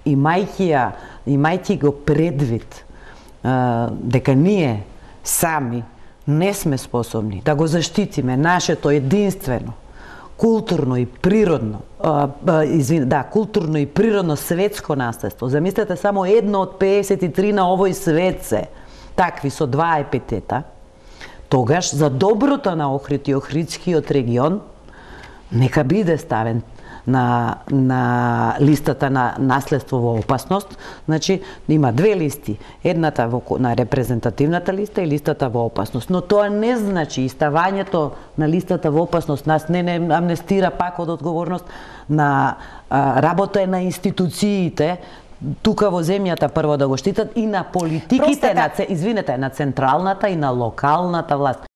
имајќи го предвид дека ние сами не сме способни да го заштитиме нашето единствено културно и природно културно и природно светско наследство. Замислете, само едно од 53 на овој свет се такви со 2 епитета. Тогаш за доброто на Охрид и Охридскиот регион нека биде ставен на листата на наследство во опасност. Значи, има две листи. Едната на репрезентативната листа и листата во опасност. Но тоа не значи ставањето на листата во опасност нас не амнестира пак од одговорност на работа на институциите тука во земјата прво да го штитат и на политиките на централната и на локалната власт.